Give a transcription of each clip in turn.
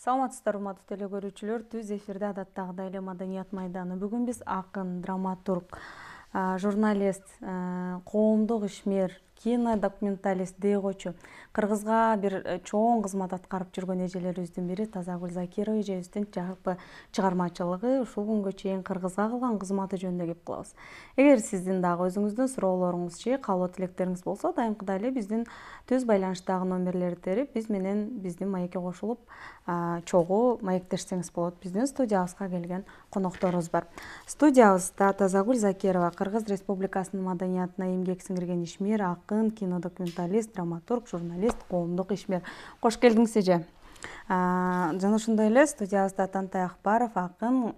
Саламатсыздар, урматтуу теле көрүүчүлөр. Түз эфирде адаттагыдай эле Маданият майданы. Бүгүн биз акын, драматург, журналист, коомдук ишмер, кинодокументалист, дейгочу, Кыргызга бир чоң кызмат аткарып жүргөн эжелерибиздин бири Тазагүл Закирова эжебиздин жалпы чыгармачылыгы, ушул күнгө чейин Кыргызга кылган кызматы жөнүндө кеп кылабыз. Эгер сиздин дагы өзүңүздүн суроолоруңуз же каалоо тилектериңиз болсо, дайымкыдай эле биздин түз байланыштагы номерлерди терип, биз менен биздин маекке кошулуп, чогуу маектешсеңиз болот. Биздин студиябызга келген конокторубуз бар. Студиябызда Тазагүл Закирова, Кыргыз Республикасынын маданиятына эмгек сиңирген ишмер, акын, кинодокументалист, драматург, журналист, коомдук ишмер. Кош келдиңиз эже. Жана ошондой эле студиябызда Тантай Акбаров, акын,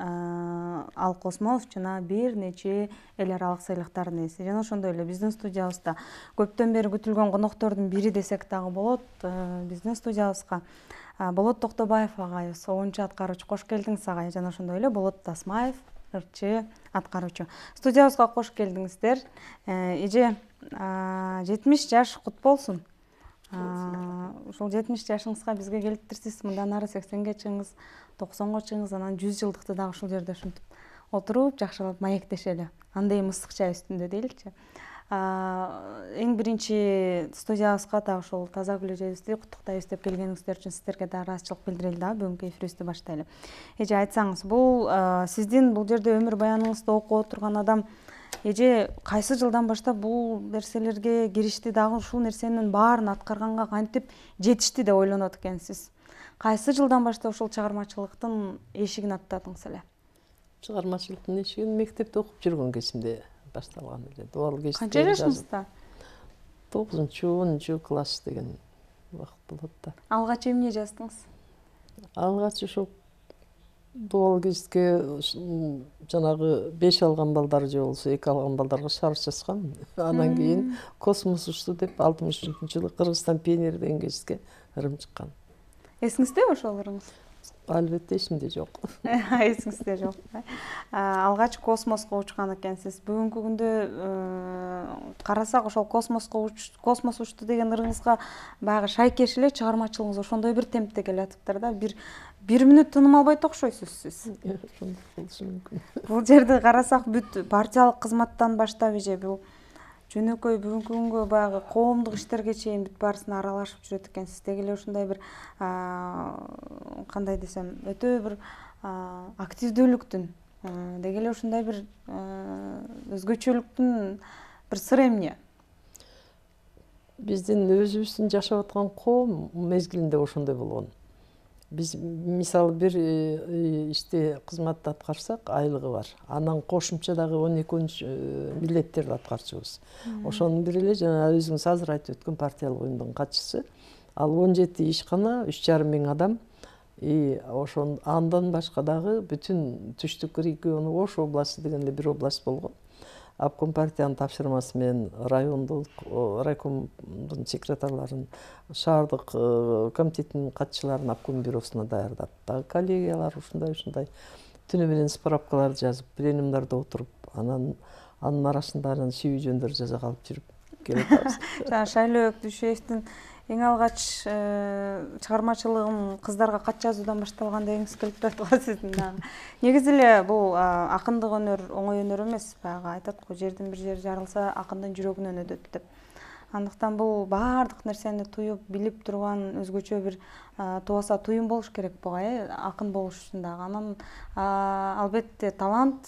Ал Космосов жана бир нече эл аралык сыйлыктардын ээси. Жана ошондой эле биздин студиябызда көптөн бери күтүлгөн коноктордун бири десек дагы болот. Биздин студиябызга Болот Токтобаев агайыбыз, оончу аткаруучу. Кош келдиңиз агай. Жана ошондой эле Болот Тасмаев, ырчы аткаруучу. Студиябызга кош келдиңиздер. Эже, 70 жаш кут болсун. Ушул 70 жашыңызга бизге келиптирсиз. Мындан ары 80ге чыгыңыз, 90го чыгыңыз, анан 100 жылдыкты дагы ушул жерде ушинтип отуруп, жакшылап маектешели. Андай ысык чай үстүндө дейли. Эң биринчи студиябызга дагы ушул Тазагүл эжебизди куттуктайбыз деп келгениңиздер үчүн сиздерге да ыраазычылык билдирели дагы бүгүнкү эфирибизди баштайлы. Эже, айтсаңыз, бул сиздин бул жерде өмүр баяныңызды окуп отурган адам эже кайсы жылдан баштап бул нерселерге киришти, дагы ушул нерсенин баарын аткарганга кантип жетишти деп ойлонот экенсиз? Кайсы жылдан баштап ушул чыгармачылыктын эшигин аттадыңыз эле? Чыгармачылыктын эшигин мектепте окуп жүргөн кезимде башталган эле. Дуал кечте. Канча жашыңызда? 9-10 класс деген убакыт болот да. Алгач эмне жаздыңыз? Алгач ошо дуал кечке жанагы 5 алган балдар же болсо 2 алган балдарга шарж жазгам. Андан кийин Космос учту деп 63-жылы Кыргызстан пионери деген гезитке ырым чыккан. Эсиңиздеби ошолоруңуз? Албетте эсимде жок. Эсиңизде жок. Алгач космоско учкан экенсиз. Бүгүнкү күндө карасак, ошол космос учту деген ырыңызга баягы шайкеш эле чыгармачылыгыңыз ошондой бир темпте келатыптыр да. Бир мүнөт тыным албайт окшойсуз сиз. Ошондой болушу мүмкүн. Бул жерди карасак, бүт партиялык кызматтан баштап эже бул жөнөкөй бүгүнкү күнгө баягы коомдук иштерге чейин бүт баарысына аралашып жүрөт экенсиз. Деги эле ушундай бир кандай десем, өтө бир активдүүлүктүн, деги эле ушундай бир өзгөчөлүктүн бир сыры эмне? Биздин өзүбүздүн жашап аткан коом мезгилинде ошондой болгон. Биз мисалы бир ишти кызматты аткарсак айлыгы бар. Анан кошумча дагы 12 милдеттерди аткарчубуз. Ошонун бири эле жана өзүңүз азыр айтып өткөн партиялык уюмдун катчысы. Ал 17 ишкана, 3,5 миң адам. Ошон андан башка дагы бүтүн түштүк региону Ош областы деген эле бир область болгон. Обком партиянын тапшырмасы менен райондук райкомдун секретарларын, шаардык комитеттин катчыларын обком бюросуна даярдап, дагы коллегиялар ушундай түнү менен справкаларды жазып, пленумдарда отуруп, анын арасында анан шиүү жөндөр жаза калып жүрүп келатабыз. Жана Шайлоо Өктүшевдин эң алгач чыгармачылыгым кыздарга кат жазуудан башталган дегиңиз келип турат го сиздин дагы. Негизи эле бул акындык өнөр оңой өнөр эмес. Баягы айтат го, жердин бир жери жарылса акындын жүрөгүнөн өтөт деп. Андыктан бул баардык нерсени туюп, билип турган өзгөчө бир тубаса туюм болуш керек буга, акын болуш үчүн дагы. Анан албетте талант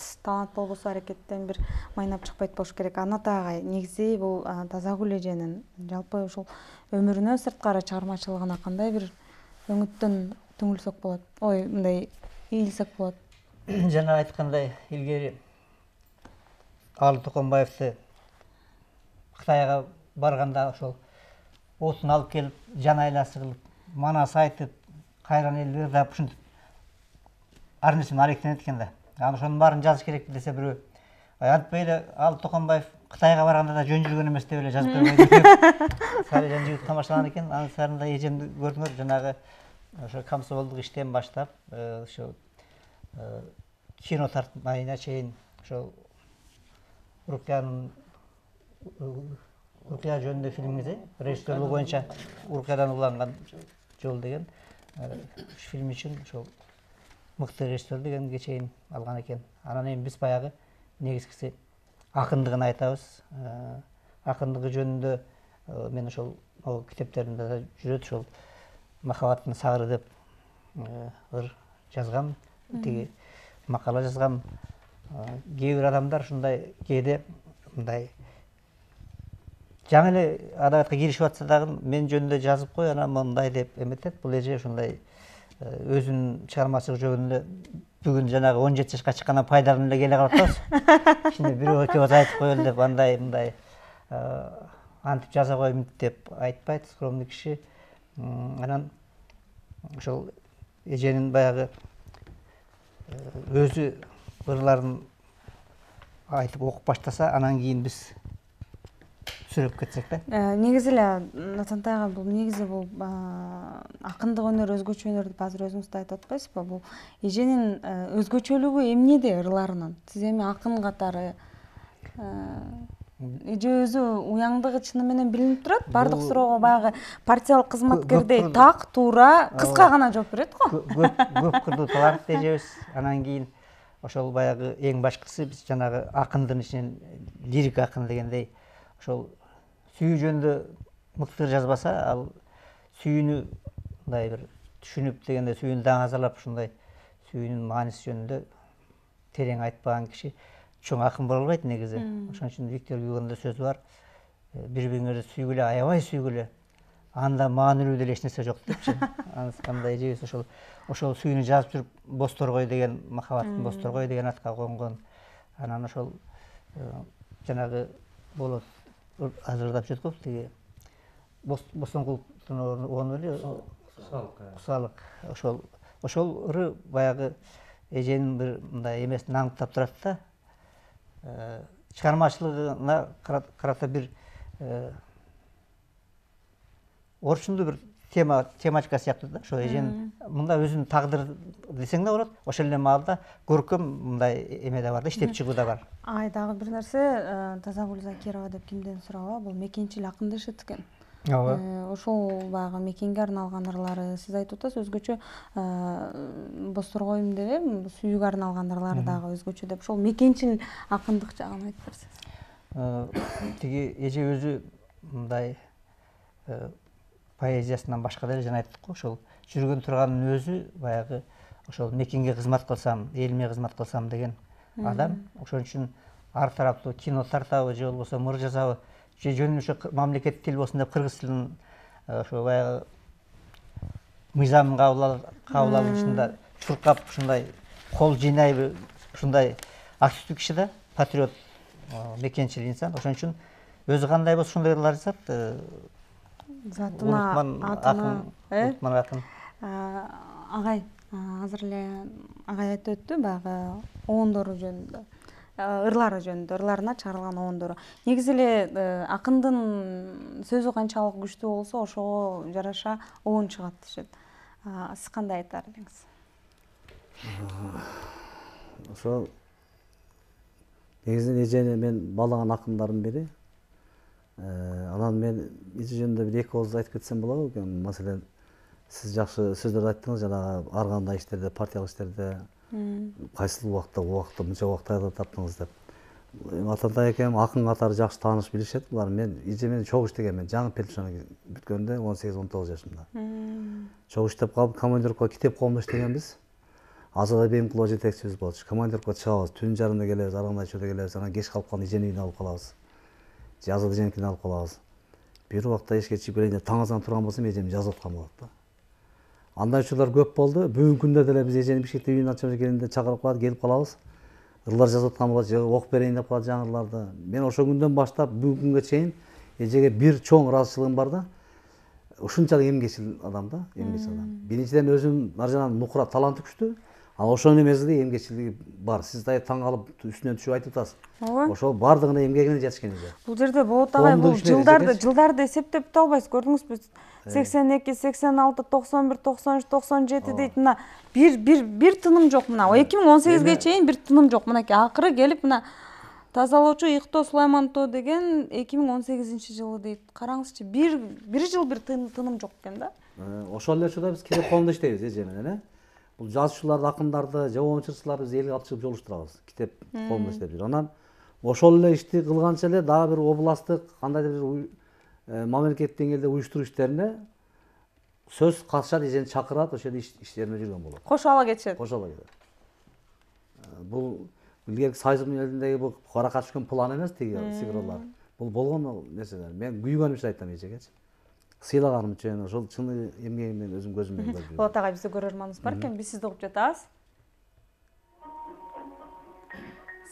болбосо аракеттен бир майнап чыкпайт болуш керек. Аната агай, негизи бул Тазагүл эженин жалпы ушул өмүрүнө сырткары чыгармачылыгына кандай бир өңүттөн түңүлсөк болот? Ой, мындай ийилсек болот. Жана айткандай, илгери Алы Токомбаевди Кытайга барганда ошол отун алып келип, жан айласы кылып, манас айтып, кайран элди ырдап ушинтип армиясын алектенет экен да. Анан ошонун баарын жазыш керек десе бирөө, антпай эле Алы Токомбаев Кытайга барганда да жөн жүргөн эмес деп эле жазып койбойт деп. Сарыжан жигит тамашалаган экен. Анын сарында эжемди көрдүңөр, жанагы ошо комсомолдук иштен баштап, ошо кино тартмайына чейин ошо Уркия жөнүндө фильмиңиз, режиссерлугу боюнча Уркиядан уланган жол деген фильм үчүн ошол мыкты режиссер дегенге чейин алган экен. Анан эми биз баягы негизгиси акындыгын айтабыз. Акындыгы жөнүндө мен ошол китептеримде да жүрөт, ошол махабаттын сагыры деп ыр жазгам, тиги макала жазгам. Кээ бир адамдар ушундай кээде мындай жаңы эле адабиятка киришип атса дагы мен жөнүндө жазып кой, анан мындай деп эметет. Бул эже ушундай өзүнүн чыгармачылык жөнүндө бүгүн жанагы 17 жашка чыккандан пайдаланып эле келе калып атабыз. Ишине бирөө экөөбүз айтып коелу деп андай мындай антип жаза коймун деп айтпайт, скромный киши. Анан ошол эженин баягы өзү ырларын айтып окуп баштаса, анан кийин биз сүрөп кетсек да. Негизи эле Натантай ага, бул негизи бул акындык өнөр, өзгөчө өнөр деп азыр өзүңүз да айтып атпайсызбы? Бул эженин өзгөчөлүгү эмнеде ырларынын? Сиз эми акын катары эже өзү уяңдыгы чыны менен билинип турат. Бардык суроого баягы партиялык кызматкердей так, туура, кыска гана жооп берет го. Көп кырдуу талант эжебиз. Анан кийин ошол баягы эң башкысы биз жанагы акындын ичинен лирик акын дегендей ошол сүйүү жөнүндө мыкты жазбаса, ал сүйүүнү мындай бир түшүнүп дегенде сүйүүнү даңазалап ушундай сүйүүнүн мааниси жөнүндө терең айтпаган киши чоң акын боло албайт негизи. Ошон үчүн Виктор Гюгонун да сөзү бар. Бири бириңерди сүйгүлө, аябай сүйгүлө. Анда маанилүү деле эч нерсе жок депчи. Анткандай эжебиз ошол сүйүүнү жазып жүрүп Босторгой деген, махабаттын Босторгой деген атка конгон. Анан ошол жанагы болот азырдап жүрөт го, тиги Босоңгулдун орну эле Кусалык. Ошол ыры баягы эженин бир мындай эмесин аңдап турат да. Чыгармачылыгына карата бир орчундуу бир тематика сыяктуу да. Ошо эженин мында өзүнүн тагдыры десең да болот. Ошол эле маалда көркөм мындай эме да бар да, иштеп чыгуу да бар. Дагы бир нерсе, Тазагүл Закирова деп кимден сураба, бул мекенчил акын дешет экен. Ооба. Ошол баягы мекенге арналган ырлары, сиз айтып атасыз, өзгөчө Босторгойм деп сүйүүгө арналган ырлары дагы өзгөчө деп. Ошол мекенчил акындык жагын айтып берсеңиз. Тиги эже өзү мындай поэзиясынан башка деле жана айттык го, ошол жүргөн турганын өзү баягы ошол мекенге кызмат кылсам, элиме кызмат кылсам деген адам. Ошон үчүн ар тараптуу кино тартабы же болбосо ыр жазабы, же жөн ошо мамлекеттик тил болсун деп кыргыз тилин ошо баягы мыйзамын кабыл алышында чуркап ушундай кол жыйнайбы, ушундай активдүү киши да, патриот, мекенчил инсан. Ошон үчүн өзү кандай болсо ошондой ырлар жазат. Затына, атына, акын. Агай, азыр эле агай айтып өттү баягы оондору жөнүндө, ырлары жөнүндө, ырларына чыгарылган оондору. Негизи эле акындын сөзү канчалык күчтүү болсо, ошого жараша оон чыгат дешет. Сиз кандай айтар элеңиз? Ошол негизинен эжени мен баалаган акындардын бири. Анан мен эже жөнүндө бир эки ооз айтып кетсем болобу экен. Маселен, сиз жакшы сөздөрдү айттыңыз, жанагы ар кандай иштерде, партиялык иштерде кайсыл убакта мынча убакта таптыңыз деп. Атантай экем акын катары жакшы тааныш билишет булар. Мен эже менен чогуу иштегем. Мен жаңы пенсияга бүткөндө 18-19 жашымда. Чогуу иштеп калып, командировкага Китеп коомдо иштегенбиз. Азат Айбемкулова жетекчибиз болчу. Командировкага чыгабыз, түн жарымда келебиз, ар кандай учурда келебиз. Анан кеч калып калганда эженин үйүнө алып калабыз. Же Азат эженикине алып калабыз. Бир убакта эшикке чыгып келейин деп таң азан турган болсом, эжем жазып аткан болот да. Андай учурлар көп болду. Бүгүнкү күндө деле биз эжени Бишкекте үйүнө ачып келгенде чакырып калат, келип калабыз. Ырлар жазып аткан болот, же окуп берейин деп калат жаңы ырларды. Мен ошол күндөн баштап бүгүнкү күнгө чейин эжеге бир чоң ыраазычылыгым бар да. Ушунчалык эмгечил адам да, эмгечил адам. Биринчиден өзүнүн ар жагынан нукура таланты күчтүү. Ал ошонун эмеси эмгечилиги бар. Сиз да таң калып үстүнөн түшүп айтып атасыз. Ошол бардыгына эмгегине жатышкан эже. Бул жерде болот агай, бул жылдарды эсептеп та албайсыз. Көрдүңүзбү? 82, 86, 91, 93, 97 дейт. Мына бир тыным жок. Мына 2018ге чейин бир тыным жок. Мынакей акыры келип мына тазалоочу Ыктоо Сулаймантоо деген 2018 жылы дейт. Караңызчы, бир жыл бир тыным жок экен да. ошол эле учурда биз китеп коомунда иштейбиз эже менен. Бул жазуучуларды, акындарды, жабон чырчыларды биз элге алып чыгып жолуштурабыз. Китеп коомунда иштеп жүрүп. Анан ошол эле ишти кылганча эле дагы бир областтык кандайдыр бир мамлекеттик деңгээлде уюштуруу иштерине сөз катышат, эжени чакырат, ошол иштерине жүргөн болот. Кошо ала кетишет. Кошо ала кетет. Бул илгерки Союз элиндеги бул каракат түшкөн план эмес, тиги сигролор. Бул болгон нерселер. Мен күйгөнүм үчүн айтам эжегечи. Сыйлаганым үчүн, ошол чыны эмгегимден өзүм көзүм менен көрүп жүрөм. Болот агай, бизде көрөрманыбыз бар экен, биз сизди угуп жатабыз.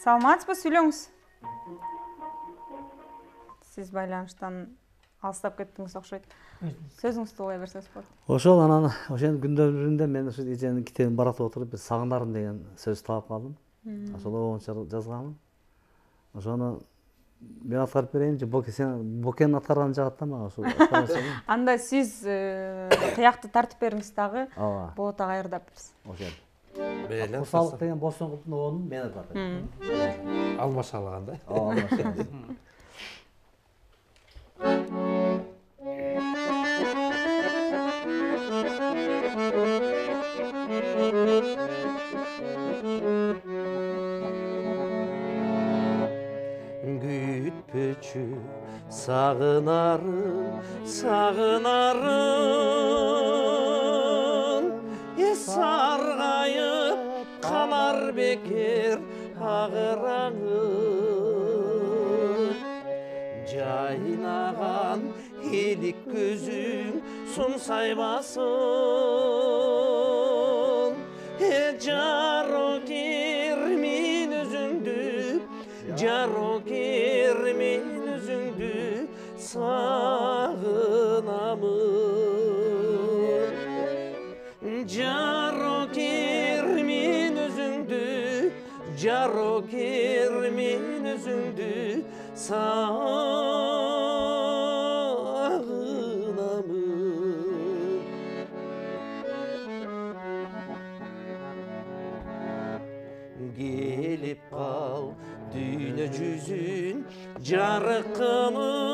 Саламатсызбы, сүйлөңүз. Сиз байланыштан алыстап кеттиңиз окшойт. Сөзүңүздү улай берсеңиз болот. Ошол анан ошонун күндөрүнүн биринде мен ошо эженин китебин баратып отуруп бир сагынарым деген сөз таап калдым. Ошол боюнча жазганмын. Ошону мен аткарып берейин же Бокенин аткарганын жагат да мага ошол. Анда сиз кыякты тартып бериңиз дагы. Ооба. Болот агай ырдап берсин. Ошол. Мейли. Курсалык деген Босоңгулдун оонун мен ататым. Алмашалагандай. Ооба, алмашалган. Күтпөчү сагынарым, сагынарым, саргайып калар бекер агыраңым. Жайнаган элик көзүң сунсайбасын, жарокер мен өзүңдү, жарокер мен өзүңдү сагынамын. Жарокер мен өзүңдү, жарокер мен өзүңдү сагынамын. Келип кал дүйнө жүзүн жарык кылып,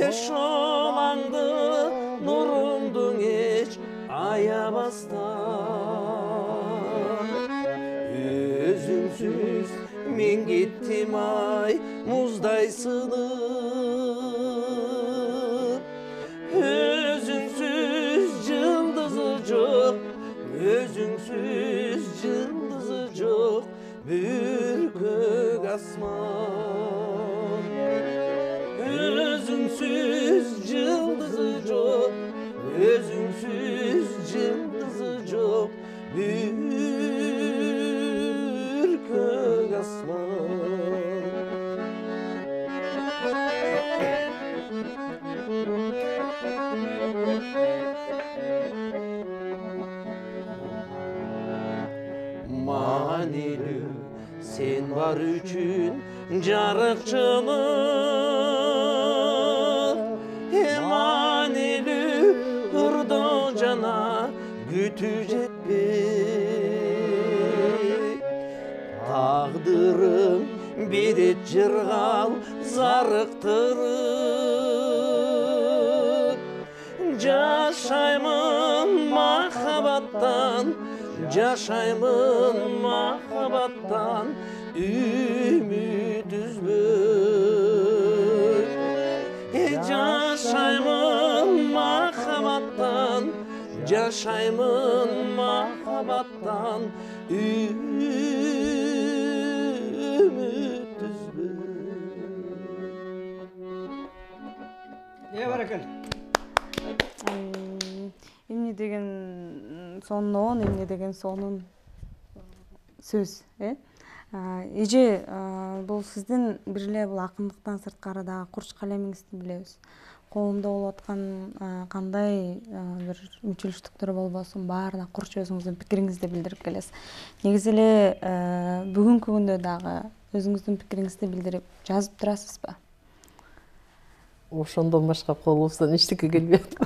ошолаңды нуруңдуң эч аябастан. Өзүңсүз мен кеттим ай муздай сынып, өзүңсүз жылдызы жок, өзүңсүз жылдызы жок бүркөк асман. Өзүңсүз жылдызы жок, өзүңсүz жылдызы жок бүркөк асман. Манилүү сен бар үчүн жарыкчылык, манилүү ырдоо жана күтүү жетпей. Тагдырым берет жыргал зарыктырып, жашаймын махабаттан, жашаймын махабаттан үмүт үзбөй. Жашаймын махабаттан, жашаймын махабаттан үмүт үзбөй. Бар экен. Эмне деген сонун, эмне деген сонун сөз, Эже, бул сиздин бир эле бул акындыктан сырткары дагы курч калемиңизди билебиз. Коомдо болуп аткан кандай бир үмүтчүлүктөр болбосун, баарына курч өзүңүздүн пикириңизди билдирип келесиз. Негизи эле бүгүнкү күндө дагы өзүңүздүн пикириңизди билдирип жазып турасызбы? Ошондон башка колубуздан эчтеке келбейт.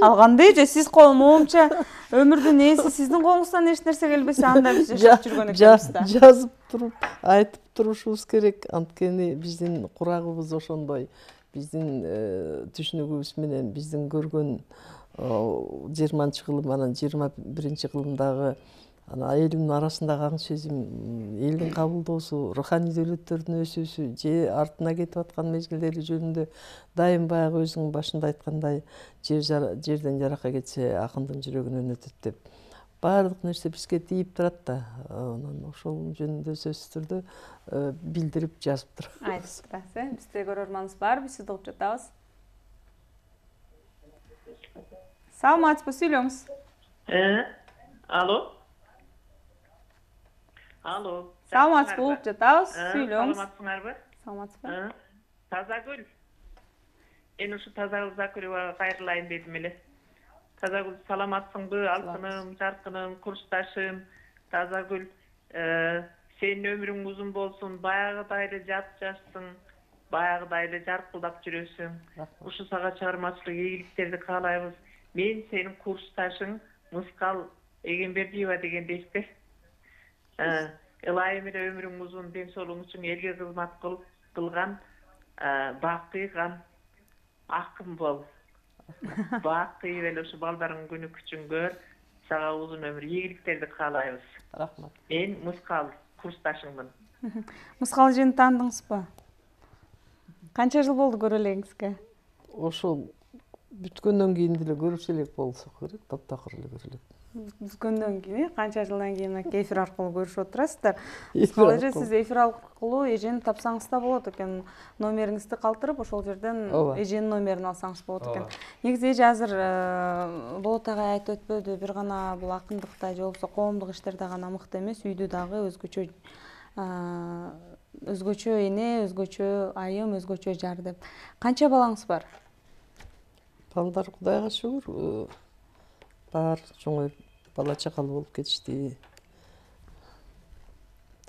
Ал кандай эже, сиз моумча өмүрдүн ээси сиздин колуңуздан эч нерсе келбесе, анда биз жашап жүргөн экенбиз да. Жазып туруп, айтып турушубуз керек. Анткени биздин курагыбыз ошондой. биздин түшүнүгүбүз менен биздин көргөн 20-кылым анан 21-кылымдагы элдин арасындагы аң сезим, элдин кабылдоосу, руханий дөөлөттөрдүн өсүүсү же артына кетип аткан мезгилдери жөнүндө дайым баягы өзүңүн башында айткандай жерден жаракка кетсе акындын жүрөгүнөн өтөт деп баардык нерсе бизге тийип турат да. Анан ошол жөнүндө сөзсүз түрдө билдирип жазып турабыз. Айтып турасыз. Бизде көрөрманыбыз бар, биз сизди угуп жатабыз. Саламатсызбы, сүйлөңүз. Алло. Алло. Саламатсызбы, угуп жатабыз. Сүйлөңүз. Саламатсыңарбы? Саламатсызбы. Тазагүл. Мен ушу Тазагүл Закурева кайрылайын дедим эле. Тазагүл, саламатсыңбы? Алтыным, жаркыным, курсташым. Тазагүл, сенин өмүрүң узун болсун, баягыдай эле жап-жашсың, баягыдай эле жаркылдап жүрөсүң. Ушу сага чыгармачылык ийгиликтерди каалайбыз. Мен сенин курсташың Мыскал Эгембердиева дегендейсиз. Ылайым эле өмүрүң узун, ден соолугуң үчүн элге кызмат кылган бакыйган акын бол. Бакыйып эле ушу балдарыңдын күнү күчүн көр. Сага узун өмүр, ийгиликтерди каалайбыз. Рахмат. Мен Мыскал курсташыңмын. Мыскал эжени таандыңызбы? Канча жыл болду көрө элеңизге? Ошол бүткөндөн кийин деле көрүшө элек болсок керек, таптакыр эле көрө элек. Бүткөндөн кийин, канча жылдан кийин эфир аркылуу көрүшүп отурасыздар. Мыскал эже, сиз эфир аркылуу эжени тапсаңыз да болот экен. Номериңизди калтырып, ошол жерден эженин номерин алсаңыз болот экен. Негизи эже азыр Болот агай айтып өтпөдү, бир гана бул акындыкта же болбосо коомдук иштерде гана мыкты эмес, үйдү дагы өзгөчө эне, өзгөчө айым, өзгөчө жар деп. Канча балаңыз бар? Балдар Кудайга шүгүр бар, чоңоюп бала чакалуу болуп кетишти.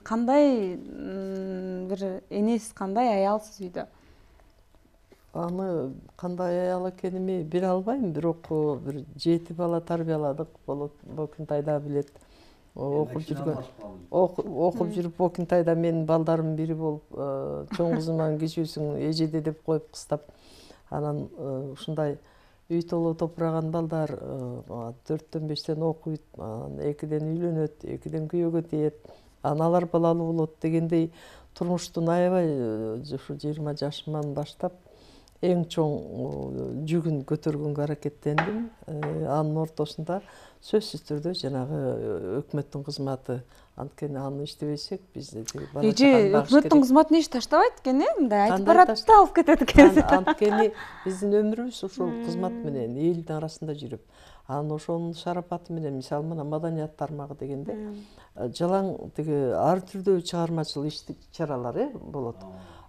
Кандай бир энесиз, кандай аялсыз үйдө? Аны кандай аял экеними биле албайм, бирок бир 7 бала тарбияладык. Бокинтайда билет. Окуп жүрүп Бокинтайда менин балдарымдын бири болуп, чоң кызыман кичүүсүң эжеде деп коюп кыстап, анан ушундай үй толо топураган балдар 4-төн 5-тен окуйт, 2-ден үйлөнөт, 2-ден күйөөгө тиет, аналар балалуу болот дегендей турмуштун аябай ушу 20 жашыман баштап эң чоң жүгүн көтөргөнгө аракеттендим. Анын ортосунда сөзсүз түрдө жанагы өкмөттүн кызматы, анткени аны иштебесек биз бала чаканы багыш керек. Өкмөттүн кызматын эч таштабайт экен, мындай айтып барат да алып кетет экен. Анткени биздин өмүрүбүз ушул кызмат менен элдин арасында жүрүп, анан ошонун шарапаты менен, мисалы мына маданият тармагы дегенде жалаң тиги ар түрдүү чыгармачыл иш-чаралар болот.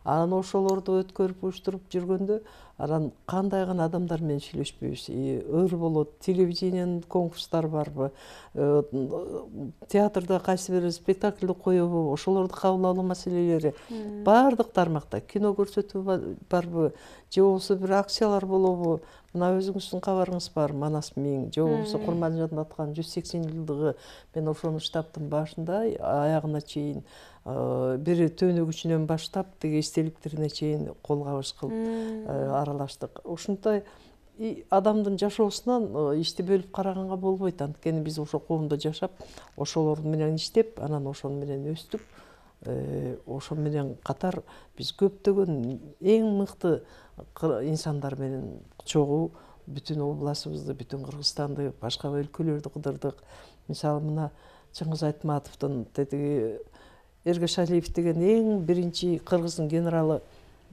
Анан ошолорду өткөрүп уюштуруп жүргөндө, анан кандай гана адамдар менен сүйлөшпөйбүз. Ыр болот, телевидениянын конкурстары барбы, театрда кайсы бир спектакльди коебу, ошолорду кабыл алуу маселелери баардык тармакта. Кино көрсөтүү барбы, же болбосо бир акциялар болобу. Мына өзүңүздүн кабарыңыз бар, Манас Миң, же болбосо Курманжандын аткан 180 жылдыгы. Мен ошону штабтын башында аягына чейин бир төөнөгүчүнөн баштап тиги эстеликтерине чейин кол кабыш кылып аралаштык. Ушундай адамдын жашоосунан ишти бөлүп караганга болбойт. Анткени биз ошо коомдо жашап, ошолор менен иштеп, анан ошон менен өстүк. Ошол менен катар биз көптөгөн эң мыкты инсандар менен чогуу бүтүн областыбызды, бүтүн Кыргызстанды, башка өлкөлөрдү кыдырдык. Мисалы мына Чыңгыз Айтматовдун тетиги Эргешалиев деген эң биринчи кыргыздын генералы,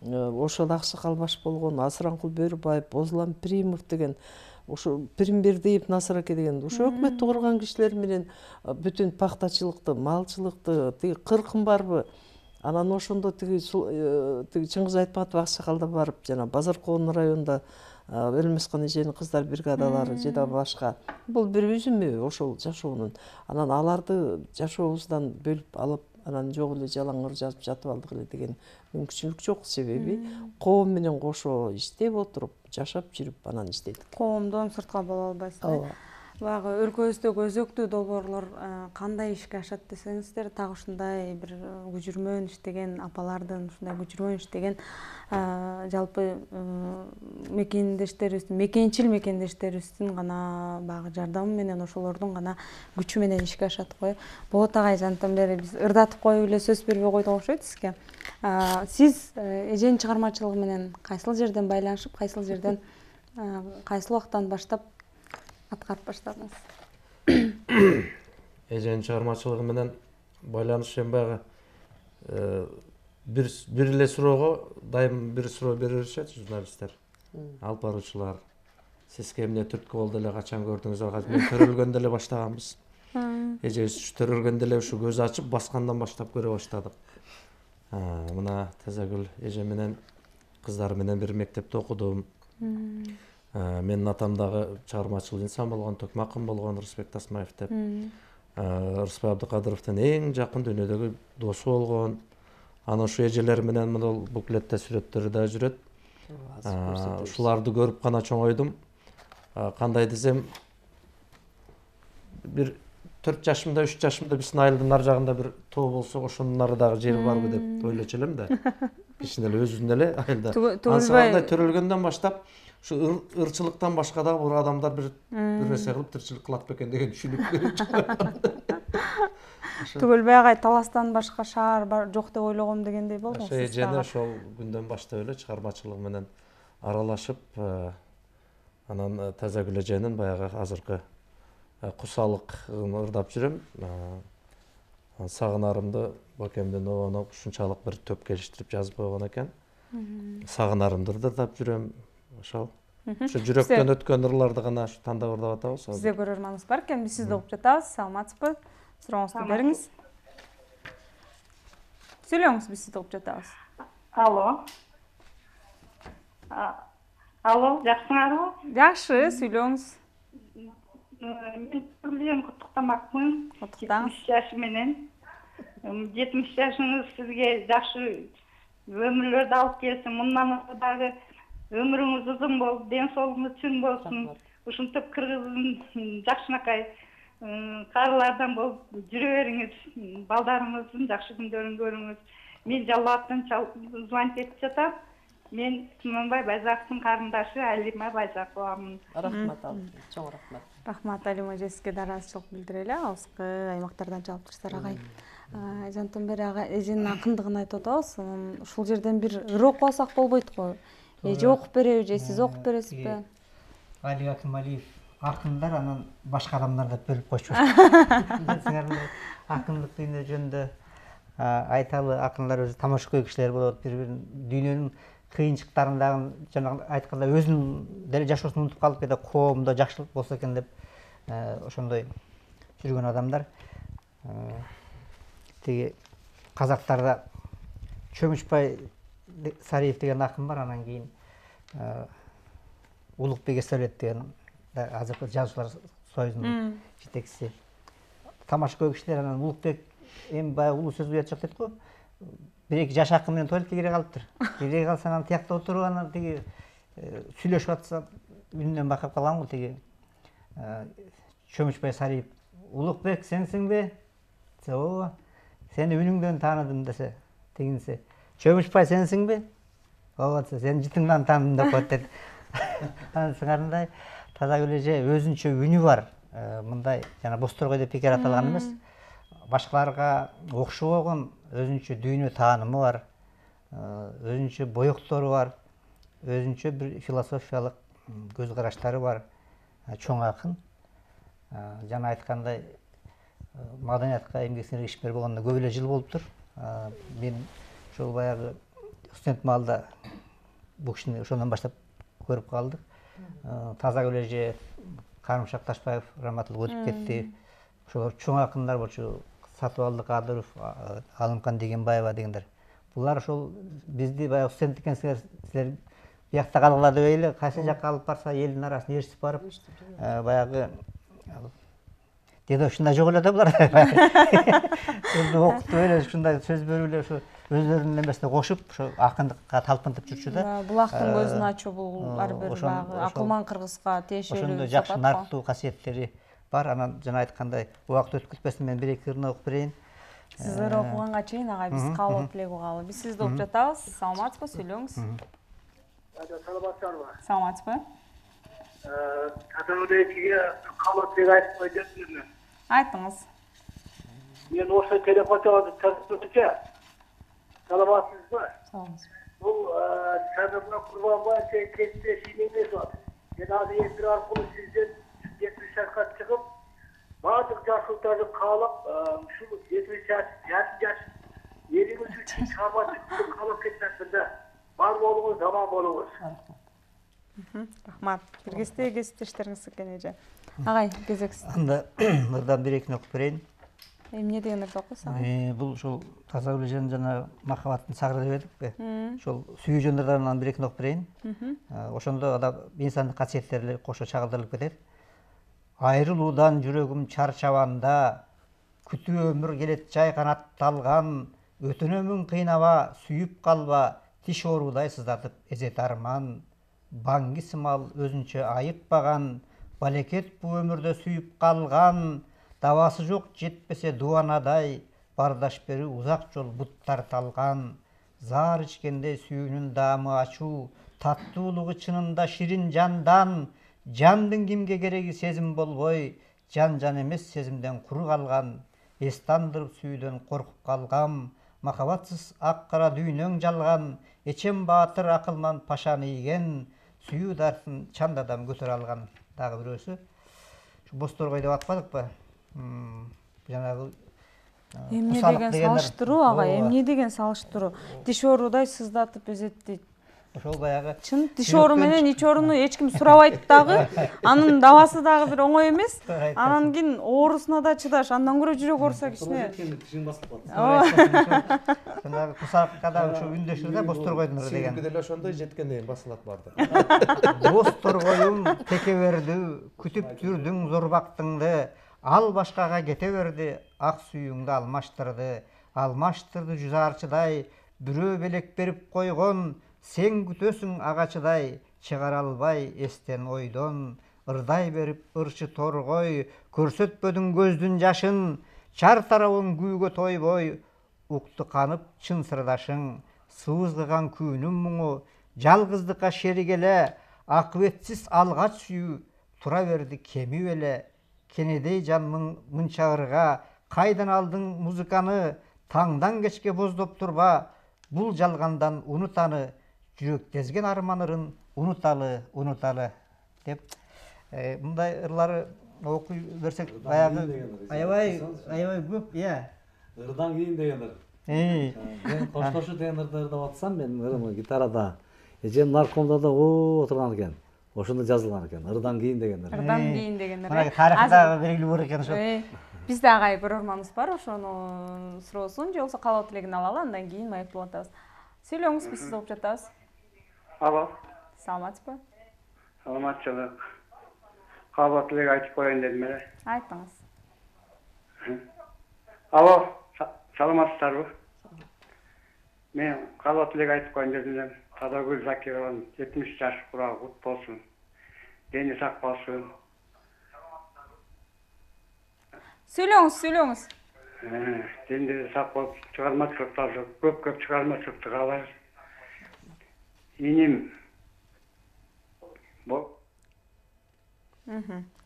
ошол Аксакал баш болгон, Асыранкул Бөрүбаев, Бозулам Примов деген, ошо Пирмбердиев Насыраке деген, ошо өкмөттү курган кишилер менен бүтүн пактачылыкты, малчылыкты, тиги кыркын барбы. Анан ошондо тиги Чыңгыз Айтматов Аксакалда барып, жана Базаркоон районунда Өлмөскөн эженин кыздар бригадалары же да башка. Бул бир үзүмү ошол жашоонун. Анан аларды жашообуздан бөлүп алып, анан жок эле жалаң ыр жазып жатып алдык эле деген мүмкүнчүлүк жок. Себеби коом менен кошо иштеп отуруп, жашап жүрүп анан иштедик. Коомдон сыртка боло албайсыз. Баягы өлкөбүздөгү өзөктүү долбоорлор кандай ишке ашат десеңиздер, так ушундай бир күжүрмөн иштеген апалардын, ушундай күжүрмөн иштеген жалпы мекендештерибиздин, мекендештерибиздин гана баягы жардамы менен, ошолордун гана күчү менен ишке ашат го. Болот агай, жантан бери биз ырдатып коюп эле сөз бербей койдук окшойт сизге. Сиз эженин чыгармачылыгы менен кайсыл жерден байланышып, кайсыл жерден, кайсыл убактан баштап аткарып баштадыңыз? Эженин чыгармачылыгы менен байланыш эми баягы бир эле суроого дайым бир суроо бере беришет журналисттер, алып баруучулар. Сизге эмне түрткү болду эле, качан көрдүңүз? Мен төрөлгөндө эле баштаганбыз. Эжебиз төрөлгөндө эле ушу көз ачып баскандан баштап көрө баштадык. Мына Тазагүл эже менен кыздары менен бир мектепте окудум. Менин атам дагы чыгармачыл инсан болгон, Төкмө акын болгон, Рысбек Тасмаев деп. Рыспай Абдыкадыровдун эң жакын дүйнөдөгү досу болгон. Анан ушу эжелер менен мына буклетте сүрөттөрү да жүрөт. Ушуларды көрүп гана чоңойдум. Кандай десем, бир 4 жашымда, 3 жашымда биздин айылдын ар жагында бир тоо болсо, ошонун нарыдагы жери барбы деп ойлочу элем да. Кичине эле өзүбүздүн эле айылда. Ансагандай төрөлгөндөн баштап ушу ырчылыктан башка дагы бир адамдар бир нерсе кылып тирчилик кылат бекен деген түшүнүк. Түгөлбөй агай таластан башка шаар жок деп ойлогом дегендей болду. Ошо эжени ошол күндөн баштап эле чыгармачылык менен аралашып, анан Тазагүл эженин баягы азыркы кусалыгын ырдап жүрөм. Сагынарымды Бакемдин обону ушунчалык бир төп келиштирип жазып койгон экен. Сагынарымды ырдап жүрөм. Ошол. Ушу жүрөктөн өткөн ырларды гана тандап ырдап атабыз. Бизде көрөрманыбыз бар экен, биз сизди угуп жатабыз. Саламатсызбы? Сурооңузду бериңиз. Сүйлөңүз, биз сизди угуп жатабыз. Алло. Алло, жакшыңарбы? Жакшы, сүйлөңүз. Мен билем куттуктамакмын. 70 жашы менен. 70 жашыңыз сизге жакшы өмүрлөрдү алып келсин. Мындан дагы өмүрүңүз узун болуп, ден соолугуңуз чың болсун. Ушинтип кыргыздын жакшынакай карылардан болуп жүрө бериңиз. Балдарыңыздын жакшы күндөрүн көрүңүз. Мен Жалал абадтан звонить этип жатам. Мен Туманбай Байзаковдун карындашы Алима Байзаковамын. Рахмат, чоң рахмат. Рахмат, Алима эжесине да ыраазычылык билдирели. Алыскы аймактардан чалып турсуздар агай. Жантан бери агай эженин акындыгын айтып атабыз. Ушул жерден бир ыр окуп алсак болбойт го. Эже окуп береби же сиз окуп бересизби? Али Акималиев акындар, анан башка адамдар деп бөлүп койчу. Акындык дүйнө жөнүндө айталы, акындар өзү тамашакөй кишилер болот, бири-бирин дүйнөнүн кыйынчылыктарын жана айтканда өзүнүн деле жашоосун унутуп калып кете, коомдо жакшылык болсо экен деп ошондой жүргөн адамдар. Тиги казактарда Чөмүчбай Сариев деген акын бар, анан кийин Улукбек Эсеулет деген азыркы жазуучулар союзунун жетекчиси. Тамашакөй кишилер, анан Улукбек эми баягы улуу сөз уят жок дейт го. Бир-эки жаш акын менен туалетке кире калыптыр. Кире калса анан тиякта отуруп, анан тиги сүйлөшүп атса үнүнөн байкап калгам го. Тиги Чөмүчбай Сариев: "Улукбек, сенсиңби?" "Ооба." "Сени үнүңдөн тааныдым" десе, тигинси: "Чөмүчбай, сенсиңби?" "Ооба" десе, "Сени жытыңдан тааныдым" деп коет дейт. Анан сыңарындай Тазагүл эже өзүнчө үнү бар. Мындай жана Босторгой деп бекер аталган эмес. Башкаларга окшобогон өзүнчө дүйнө таанымы бар, өзүнчө боектору бар, өзүнчө бир философиялык көз караштары бар чоң акын. Жана айткандай, маданиятка эмгек сиңирген ишмер болгондо көп эле жыл болуптур. Мен ошол баягы студент маалда бул кишини ошондон баштап көрүп калдык. Тазагүл эже, Карымшак Ташбаев раматылык өтүп кетти. Ошолор чоң акындар болчу. Сатыбалды Кадыров, Алымкан Дегенбаева дегендер. Булар ошол бизди баягы студент экенсиңер, силер биякта калгыла дебейли, кайсы жакка алып барса элдин арасына ээрчитип барып, баягы деди ушундай жок эле да булар. Өзү окутуп эле ушундай сөз берип эле ошо өздөрүнүн эмесине кошуп, ошо акындыкка талпынтып жүрчү да. Булактын көзүн ачуу бул ар бир баягы акылман кыргызга тиешелүү. Ошондой жакшы нарктуу касиеттери бар. Анан жана айткандай убакыт өткөзбөстөн мен 1-2 ырын окуп берейин. Сиздер окуганга чейин агай биз кабыл элек угалы. Биз сизди угуп жатабыз. Саламатсызбы? Сүйлөңүз. Саламатсызбы? Саламатсызбы? Татаулетиге кабыл айтып койдум. Айтыңыз. Мен осы телефон çaldı tasarrufça. Саламатсызбы? Саламатсыз. Бул Садырбай Курбанбаев кесте шимемес бар. Мен азыр эфир аркылуу сизден 70 жашка чыгып, баардык жашылтарды каалап, ушул 70 жаш, жаш элибиз үчүн чабатты каалап кетмесинде бар болуңуз, заман болуңуз. Рахмат. Киргизде кесиптештериңиз экен эже. Агай, кезексиз. Анда мырдан 1-2 окуп берейин. Эмне дегенди окуйсуз агай? Бул ушул таза билежен жана махабаттын сагыры деп эдикпи? Ошол сүйүү жөндөрлөрүнөн 1-2 окуп берейин. Ошондо адам инсандык касиеттери кошо чагылдырылып кетет. Айрылуудан жүрөгүм чарчабанда, күтүү өмүр келет жай канатталган, өтүнөмүн кыйнаба, сүйүп калба, тиш оорудай сыздатып эзет арман. Баңги сымал өзүнчө айыкпаган, балекет бу өмүрдө сүйүп калган, давасы жок жетпесе дубанадай, бардаш бери узак жол буттар талган. Заар ичкенде сүйүүнүн даамы ачуу, таттуулугу чынында ширин жандан, жандын кимге кереги сезим болбой, жан эмес сезимден куру калган, эстандырып сүйүүдөн коркуп калгам, махабатсыз ак кара дүйнөң жалган, эчем баатыр акылман пашаны ийген, сүйүү дартын чандадам көтөрө алган. Дагы бирөөсү. Şu Босторгой деп атпадыкпы? Жанагы Эмне деген салыштыруу агай, эмне деген салыштыруу? Тиш оорудай сыздатып эзеттейт. Ошол баягы чын тиш оору менен ич ооруну эч ким сурабайт дагы. Анын давасы дагы бир оңой эмес. Анан кийин оорусуна да чыдаш, андан көрө жүрөк ооруса кичине. Тишин басып калат. Жанагы кусакка да ушу үндөшүр да Босторгойдун деген. Сүйүнгү деле ошондой жеткенден кийин басылат барды. Босторгоюм тете берди, күтүп жүрдүң зорбактыңды, ал башкага кете берди, ак сүйүүңдү алмаштырды жүзарчыдай, бирөө белек берип койгон, сен күтөсүң агачыдай, чыгара албай эстен ойдон, ырдай берип ырчы торгой, көрсөтпөдүң көздүн жашын, чар тарабың күүгө тойбой, укту канып чын сырдашың, сыбызгыган күүнүн муңу, жалгыздыкка шерик эле, акыбетсиз алгач сүйүү, тура берди кемип эле, кенедей жан мынча ырга, кайдан алдың музыканы, таңдан кечке боздоп турба, бул жалгандан унутаны, жүрөк тезген арманырын унуталы деп мындай ырлары окуй берсек баягы аябай көп. Ырдан кийин деген ыр. Мен коштошу деген ырды ырдап атсам, мен ырымы гитарада эжем наркомда да отурган экен. Ошондо жазылган экен. Ырдан кийин деген ыр. Ырдан кийин деген ыр. Мына тарыхта белгилүү бар экен ошо. Бизде агай көрөрманыбыз бар, ошону суроосун же болбосо каалоо тилегин алалы, андан кийин маектеп атабыз. Сүйлөңүз, биз сизди угуп жатабыз. Алло. Саламатсызбы? Саламатчылык. Каалоо тилек айтып коеюн дедим эле. Айтыңыз. Алло, саламатсыздарбы? Мен каалоо тилек айтып коеюн дедим эле. Тадагүл Закированын 70 жаш курагы кут болсун. Дени сак болсун. Сүйлөңүз. Денде сак болуп чыгармачылыктар көп чыгармачылыкты каалайбыз. Иним.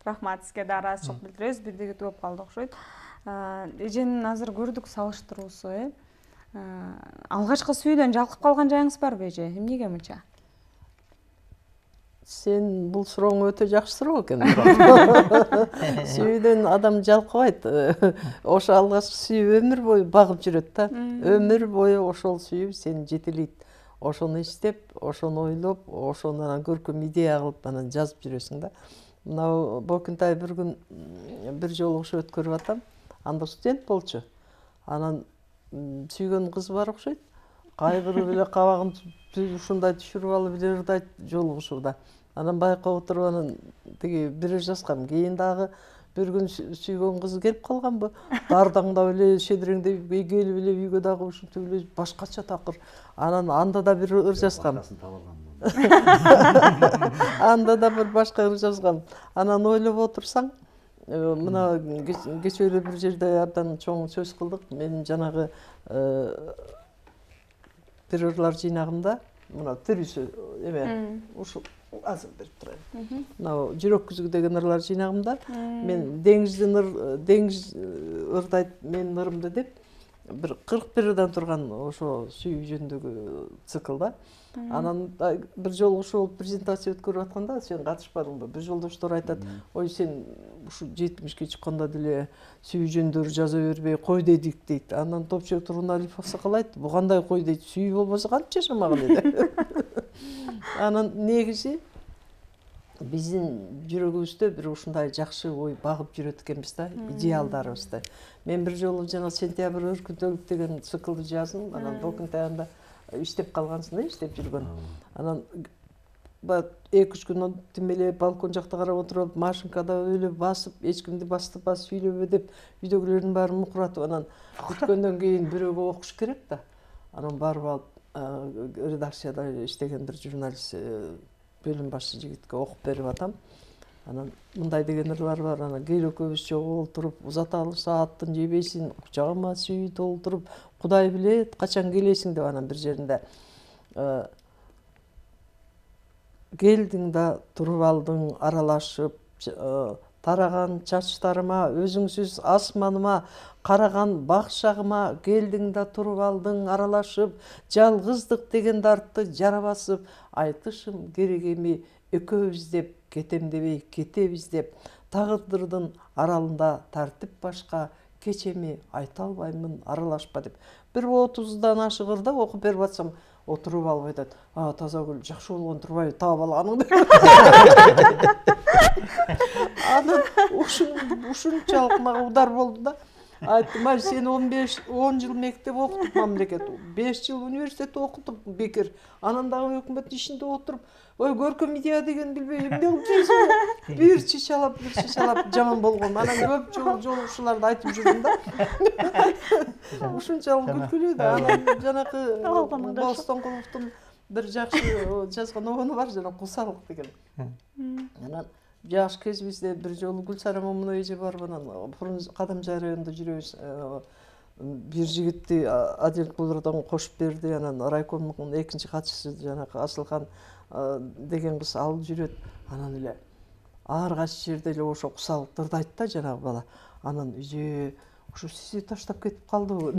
Рахмат, сизге да ыраазычылык билдиребиз. Бирдеги түгөп калды окшойт. Эженин азыр көрдүк салыштыруусу, алгачкы сүйүүдөн жалкып калган жайыңыз барбы эже? Эмнеге мынча? Сен бул сурооң өтө жакшы суроо экен. Сүйүүдөн адам жалкыбайт. Ошо алгачкы сүйүү өмүр бою багып жүрөт да. Өмүр бою ошол сүйүү сени жетелейт. Ошону иштеп, ошону ойлоп, ошону анан көркөм идея кылып анан жазып жүрөсүң да. Мына Бокунтай бир күн бир жолугушуу өткөрүп атам. Анда студент болчу. Анан сүйгөн кыз бар окшойт. Кайгырып эле кабагын ушундай түшүрүп алып эле ырдайт жолугушууда. Анан байкап отуруп анан тиги бир жазгам. Кийин дагы бир күн сүйгөн кызы келип калганбы? Дардаңдап эле шедиреңдеп келип эле үйгө дагы ушинтип эле башкача такыр. Анан анда да бир ыр жазгам. Анда да бир башка ыр жазгам. Анан ойлоп отурсаң, мына кечээ эле бир жерде абдан чоң сөз кылдык. Мен жанагы террорлор жыйнагымда мына тирүүсү эме ушул азыр берип турайын. Мына жүрөк күзгү деген ырлар жыйнагымда мен деңиз ырдайт менин ырымды деп бир 41 ырдан турган ошо сүйүү жөнүндөгү циклда. Анан бир жолу ошол презентация өткөрүп атканда сен катышпадыңбы? Бир жолдоштор айтат, ой сен ушу 70-ке чыкканда деле сүйүү жөнүндө жаза бербей кой дедик дейт. Анан Топчубек Тургуналиев аксакал айтты, бу кандай кой дейт, сүйүү болбосо кантип жашамаган эди. Анан негизи биздин жүрөгүбүздө бир ушундай жакшы ой багып жүрөт экенбиз да, идеалдарыбызды. Мен бир жолу жана сентябрь өркүндөлүк деген циклды жаздым. Анан Докунтаянда иштеп калгансың да, иштеп жүргөн. Анан 2-3 күн тимелеп балкон жакта карап отуруп, машинкада өлүп басып, эч кимди басып сүйлөбө деп үйдөгүлөрдүн баарын мукуратып, анан бүткөндөн кийин бирөөгө окуш керек да. Анан барып алып редакцияда иштеген бир журналист бөлүм башчы жигитке окуп берип атам. Анан мындай деген ырлар бар. Анан кел экөөбүз чогултуруп, узаталы сааттын жебесин кучагыма сүйүү толтуруп, Кудай билет качан келесиң деп анан бир жеринде келдиң да туруп алдың аралашып, тараган чачтарыма, өзүңсүз асманыма, караган бакшагыма, келдиң да туруп алдың аралашып, жалгыздык деген дартты жара басып, айтышым керек эми экөөбүз деп, кетем дебей кетебиз деп, тагдырдын аралында тартип башка, кечеми айта албаймын аралашпа деп. Бир 30дан ашык ырда окуп берип атсам, отуруп алып айтат, Тазагүл жакшы болгон турбайбы, таап алганың деп. Анан ушунчалык мага удар болду да. Айттым, сен 10 жыл мектеп окутуп мамлекет, 5 жыл университетте окутуп бекер, анан дагы өкмөт ишинде отуруп, ой көркөм идея деген билбей эмне кылып жүрсүң? Бир чычалап жаман болгон. Анан көп жолу ушуларды айтып жүрдүм да. Ушунчалык күлкүлүү да. Анан жанакы Бостоңкуловдун бир жакшы жазган обону бар, жана Кусалык деген. Анан жаш кезибизде бир жолу Гүлсара Момуновна эже барып, анан Кадамжай районунда жүрөбүз. Бир жигитти Адил Кулурдан кошуп берди. Анан райкомдун экинчи катчысы жанакы Асылхан деген кыз алып жүрөт. Анан эле ар кайсы жерде эле ошо Кусалыкты ырдайт да жанагы бала. Анан ушу сизди таштап кетип калдыбы?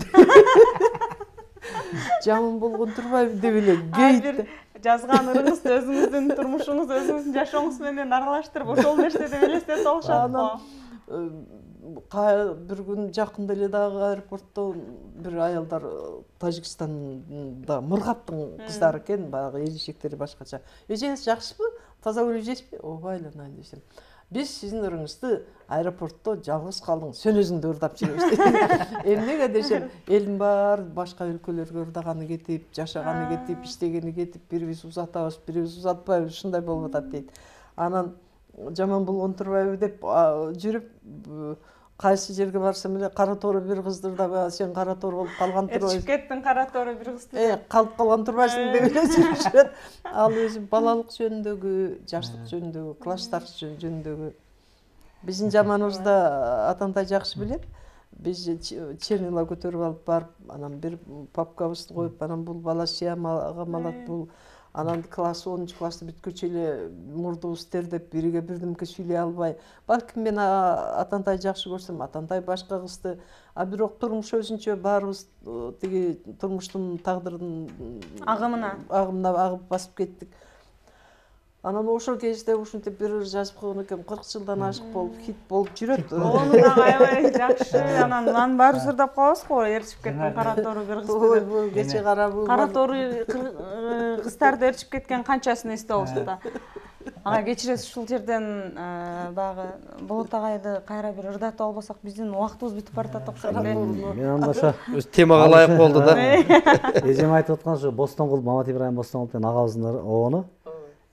Жаман болгон турбайбы деп эле кейт. Жазган ырыңызды өзүңүздүн турмушуңуз, өзүңүздүн жашооңуз менен аралаштырып, ошол нерседе элестетип алышат го. Бир күн жакында эле дагы аэропортто бир аялдар Тажикстанда Мургаптын кыздары экен, баягы элишектери башкача. Эжеңиз жакшысызбы? Таза өлежесизби? Ооба, десем. Биз сиздин ырыңызды аэропортто жалгыз калдың, сен өзүң да ырдап жүрөбүз. Эмнеге десем, элдин баары башка өлкөлөргө ырдаганы кетип, жашаганы кетип, иштегени кетип, бирибиз узатабыз, бирибиз узатпайбыз, ушундай болуп атат дейт. Анан жаман болгон турбайбы деп жүрүп, кайсы жерге барсам эле кара тору бир кызды ырдап, сен кара тору болуп калган турбайсың. Эрчип кеттиң кара тору бир кызды. Калып калган турбайсың деп эле жүрүшөт. Ал өзү балалык жөнүндөгү, жаштык жөнүндөгү, класстар жөнүндөгү. Биздин жаманыбызда атандай жакшы билет. Биз чернила көтөрүп алып барып, анан бир папкабызды коюп, анан бул бала сыямага малат, бул анан класс 10 класты бүткүчө эле мурдубуз тердеп, бириге бирдемке сүйлөй албай. Балким мен атандай жакшы көрсөм, атандай башка кызды, бирок турмуш өзүнчө баарыбыз тиги турмуштун тагдырдын агымына агып басып кеттик. Анан ошол кезде ушинтип бир жазып койгон экем, 40 жылдан ашык болуп, хит болуп жүрөт. Ону дагы аябай жакшы. Анан баарыбыз ырдап калабыз го, эрчип кеткен кара тору бир кызды. Кече кара тору кыздарды эрчип кеткен канчасын эсте алышты да. Ага кечиресиз, ушул жерден баягы Болот агайды кайра бир ырдатып албасак, биздин убактыбыз бүтүп баратат окшойт эле. Мен анда ошо темага ылайык болду да. Эжем айтып аткан ошо Бостоңкул, Мамат Ибраим Бостоңкул деген агабыздын обону.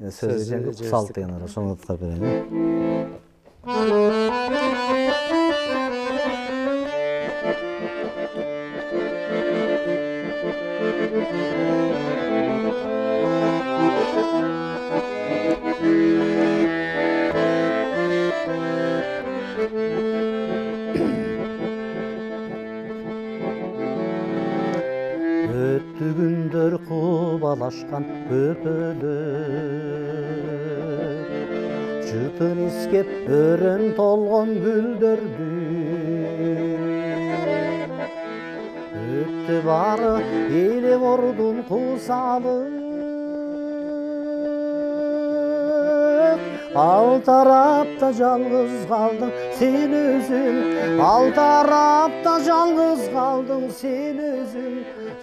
Сөз эжемге Кусалык деген ошону уткап берейин. өттү күндөр кубалашкан көпөлөп жытын искеп өрөн толгон гүлдөрдү өттү бары эле бордун кусалып ал тарапта жалгыз калдың сен өзүң ал тарапта жалгыз калдың сен өзүң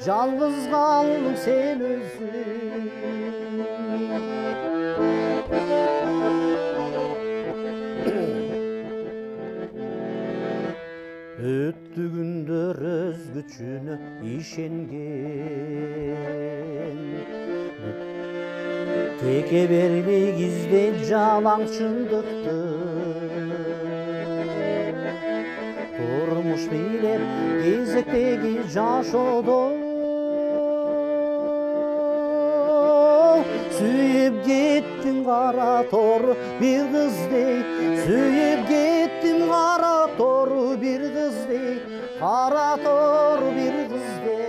жалгыз калдың сен өзүң өттү күндөр өз күчүнө ишенген теке бербей издейт жалаң чындыкты турмуш бийлеп кезектеги жашоодо сүйүп кеттим кара тору бир кыздей сүйүп кеттим кара тору бир кыздей кара тору бир кыздей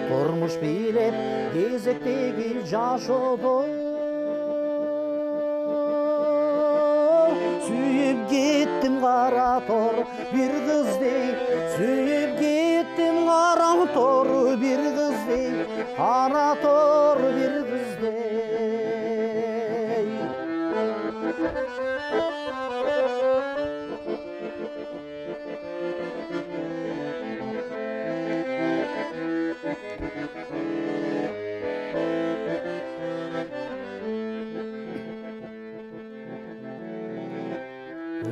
турмуш бийлеп кезектеги жашоодо сүйүп кеттим кара тору бир кыздей сүйүп кеттим кара тору бир кыздей кара тору бир кыздей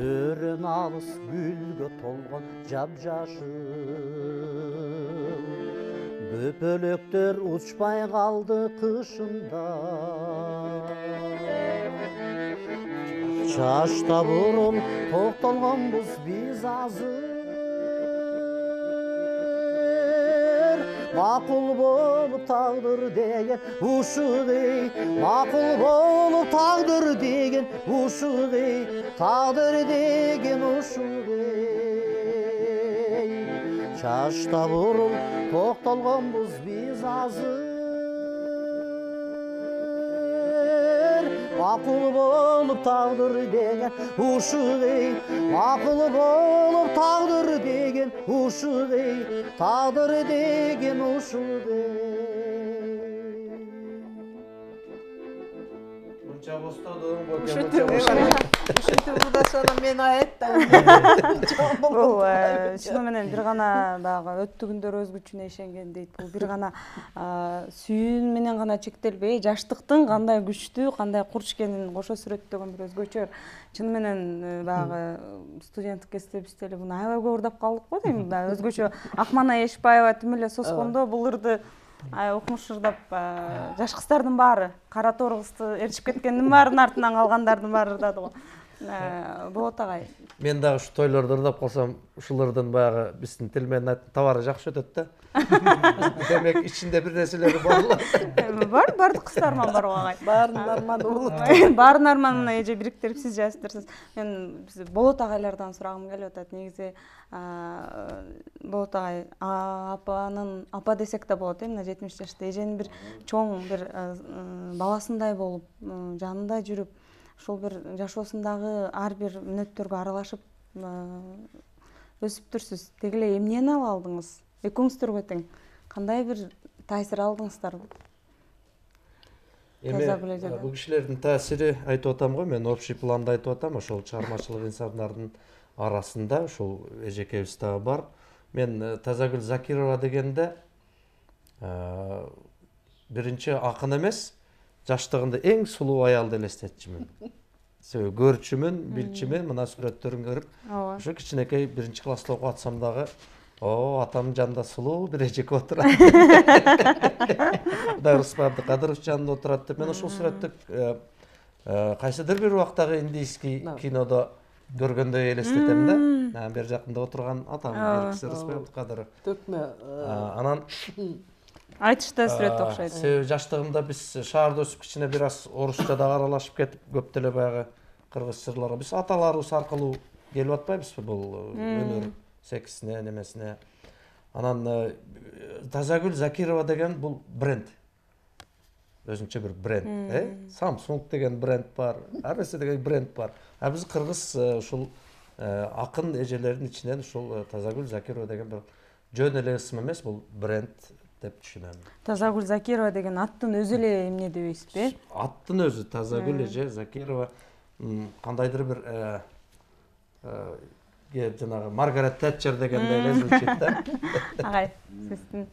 өрөн алыс гүлгө толгон жапжашыл бөпөлөктөр учпай калды кышында чачта бурул токтолгонбуз биз азыр макул болуп тагдыр деген ушугей макул болуп тагдыр деген ушугей тагдыр деген ушугей чачта бурул токтолгонбуз биз азыр макул болуп тагдыр деген ушугей макул болуп тагдыр деген ушугей тагдыр деген ушугей мынча бостодуң ушинтип ырдашаны мен айттым. Бул чыны менен бир гана баягы өттү күндөр өз күчүнө ишенген дейт. Бул бир гана сүйүүн менен гана чектелбей, жаштыктын кандай күчтүү, кандай курч экенин кошо сүрөттөгөн бир өзгөчө. Чыны менен баягы студенттик кезибизде эле муну аябай көп ырдап калдык го дейм. Өзгөчө Акмана Эшбаева тим эле соскондо бул ырды укмуш ырдап жаш кыздардын баары кара тор кызды эрчип кеткендин баарынын артынан калгандардын баары ырдады го. Болот агай. Мен дагы ушу тойлордо ырдап калсам, ушулардын баягы биздин тил менен айтканда товары жакшы өтөт да. Демек ичинде бир нерселери бар. Бардык кыздарман бар го агай. Баарынын арманы болот. Баарынын арманын эже бириктирип сиз жазыптырсыз. Мен Болот агайлардан сурагым келип атат. Негизи Болот агай апа десек да болот, мына 70 жашта эженин бир чоң бир баласындай болуп, жанында жүрүп, ушул бир жашоосундагы ар бир мүнөттөргө аралашып өсүптүрсүз. Деги эле эмнени ала алдыңыз? Экөөңүздөргө тең кандай бир таасир алдыңыздар? Бул кишилердин таасири айтып атам го, мен общий планда айтып атам, ошол чыгармачылык инсандардын арасында ушул эжекебиз дагы бар. Мен Тазагүл Закирова дегенде биринчи акын эмес, жаштыгында эң сулуу аялды элестетчүмүн. Себеби көрчүмүн, билчүмүн, мына сүрөттөрүн көрүп, ошо кичинекей биринчи класста окуп атсам дагы, атамдын жанында сулуу бир эжеке отурат. Кудай Рыспай Абдыкадыров жанында отурат деп мен ошол сүрөттү кайсыдыр бир убактагы индийский кинодо көргөндөй элестетем да. Бер жакында отурган атам Беркиси Рыспай Абдыкадыров. Төкмө. Анан айтышта сүрөт окшойт. Себеби жаштыгымда биз шаарда өсүп кичине бир аз орусча да аралашып кетип, көп деле баягы кыргыз жырларга биз аталарыбыз аркылуу келип атпайбызбы бул өнөр секисине, немесине. Анан Тазагүл Закирова деген бул бренд. Өзүнчө бир бренд, Samsung деген бренд бар, ар нерсе деген бренд бар. А биз кыргыз ушул акын эжелердин ичинен ушул Тазагүл Закирова деген бир жөн эле ысым эмес, бул бренд деп түшүнөм. Тазагүл Закирова деген аттын өзү эле эмне дебейсизби? Аттын өзү Тазагүл эже Закирова кандайдыр бир жанагы Маргарет Тэтчер дегендей эле звучит да. Агай, сиздин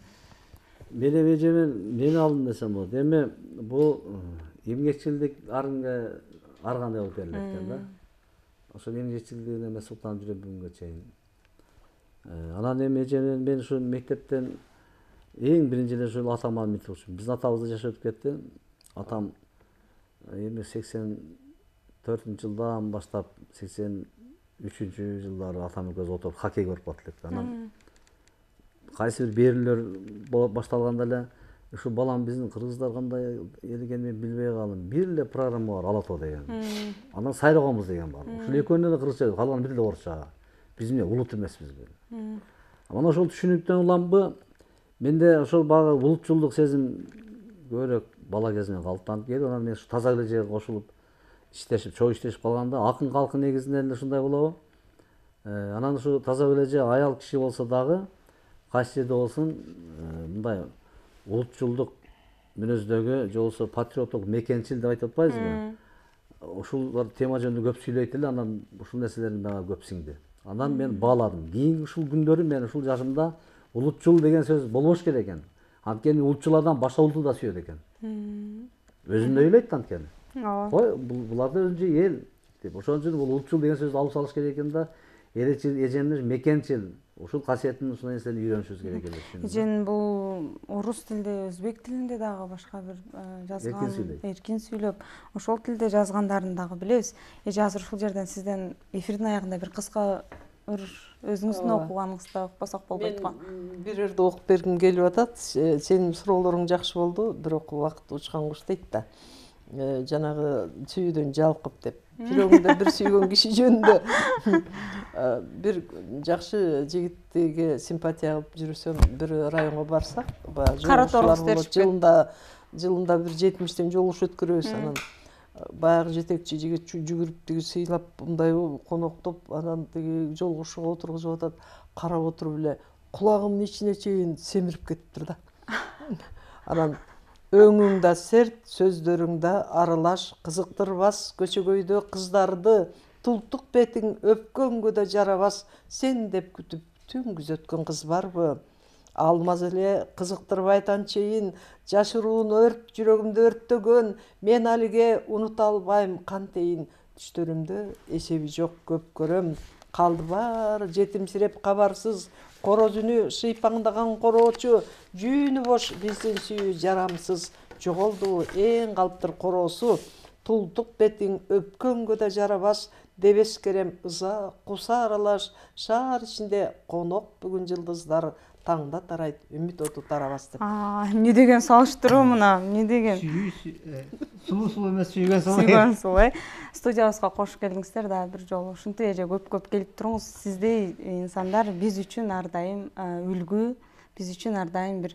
Менин эжемен мени алдым десем болот. Эми бул эмгекчилдик аргандай болуп келет экен да. Ошо эмгекчилдигине эме суктанып жүрөм бүгүнгө чейин. Анан эми эжемен мен ушу мектептен эң биринчи эле ушул атама үмүт кылчумун. Биздин атабыз да жашап өтүп кетти. Атам эми 84-жылдан баштап 83-жылдары атам экөөбүз отуруп хоккей көрүп калат элек. Анан кайсы бир берүүлөр башталганда эле ушу балам биздин кыргыздар кандай эл экенин мен билбей калдым. Бир эле программа бар Ала тоо деген. Анан сайрагонбуз деген бар. Ушул экөөнү эле кыргызча, калганы бир эле орусча. Биз эмне улут эмеспизби? Анан ошол түшүнүктөн уламбы менде ошол баягы улутчулдук сезим көбүрөөк бала кезимден калыптанып келип, анан мен ушу Тазагүл эжеге кошулуп иштешип, чоң иштешип калганда акын калкы негизинен эле ушундай болобу. Анан ушу Тазагүл эже аял киши болсо дагы кайсы жерде болсун мындай улутчулдук мүнөздөгү же болбосо патриоттук мекенчил деп айтып атпайбызбы? Ушул тема жөнүндө көп сүйлөйт эле, анан ушул нерселерин мага көп сиңди. Анан мен бааладым. Кийинки ушул күндөрү мен ушул жашымда улутчул деген сөз болбош керек экен. Анткени улутчулардан башка улутту да сүйөт экен. Өзүм да ойлойт анткени. Ой, булар да өзүнчө эл деп. Ошон үчүн бул улутчул деген сөздү алып салыш керек экен да. Элечил, эжениш, мекенчил. Ушул касиетин, ушул нерсени үйрөнүшүбүз керек эле. Эжен бул орус тилинде, өзбек тилинде дагы башка бир жазган, эркин сүйлөп, ошол тилде жазгандарын дагы билебиз. Эже азыр ушул жерден сизден эфирдин аягында бир кыска өзүңүздүн окуганыңызды окупасак болбойт го. Мен бир жерде окуп бергим келип атат. Сенин суроолоруң жакшы болду, бирок убакыт учкан куш дейт да. Жанагы сүйүүдөн жалкып деп. Жүрөгүңдө бир сүйгөн киши жөнүндө бир жакшы жигитиге симпатия кылып жүрсөм, бир районго барсак, кара торгуз жылында бир 70тен жолугуш өткөрөбүз. Анан баягы жетекчи жигит жүгүрүп тиги сыйлап мындай коноктоп, анан тиги жолугушууга отургузуп атат, карап отуруп эле кулагымдын ичине чейин семирип кетиптир да. Анан өңүң да серт, сөздөрүң да аралаш, кызыктырбас көчөгөйдө кыздарды, тултук бетиң өпкөнгө да жарабас, сен деп күтүп түн күзөткөн кыз барбы? Алмаз эле кызыктырбай танчейин, жашыруун өрт жүрөгүмдү өрттөгөн, мен алиге унута албайм кантейин, түштөрүмдө эсеби жок көп көрөм, калды баары жетимсиреп кабарсыз, короз үнү шыйпаңдаган короочу, жүүнү бош биздин сүйүү жарамсыз, жоголду эң калыптыр короосу, тултук бетиң өпкөнгө да жарабас, дебес керем ыза куса аралаш, шаар ичинде конок бүгүн жылдыздар, таңда тарайт үмүт оту тарабас деп. Эмне деген салыштыруу мына, эмне деген? Сулуу эмес, сүйгөн сулуу. Сүйгөн сулуу. Студиябызга кош келиңиздер да бир жолу. Ушинтип эже көп келип туруңуз. Сиздей инсандар биз үчүн ар дайым үлгү, биз үчүн ар дайым бир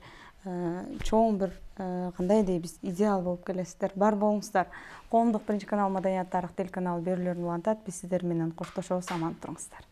чоң бир кандай дейбиз, идеал болуп келесиздер. Бар болуңуздар. Коомдук биринчи канал Маданият тарых телеканалы берүүлөрүн улантат. Биз сиздер менен коштошобуз, аман туруңуздар.